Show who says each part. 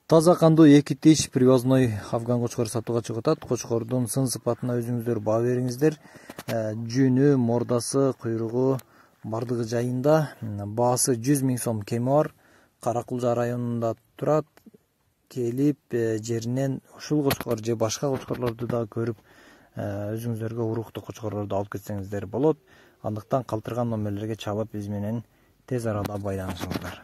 Speaker 1: Таза кандуу эки тиш привозной афган кочкор сатууга чыгып атат. Кочкордун сын сыпатына өзүңүздөр баа бериңиздер. Жүнү, мордасы, куйругу бардыгы жайында. Баасы 100 000 сом кеми бар. Каракулжа районунда турат. Келип жеринен ушул кочкор же башка кочкорлорду да көрүп, өзүңүздөргө уруктуу кочкорлорду алып кетсеңиздер болот. Андыктан калтырган номерлерге чалып биз менен тез арада байланышыңыздар.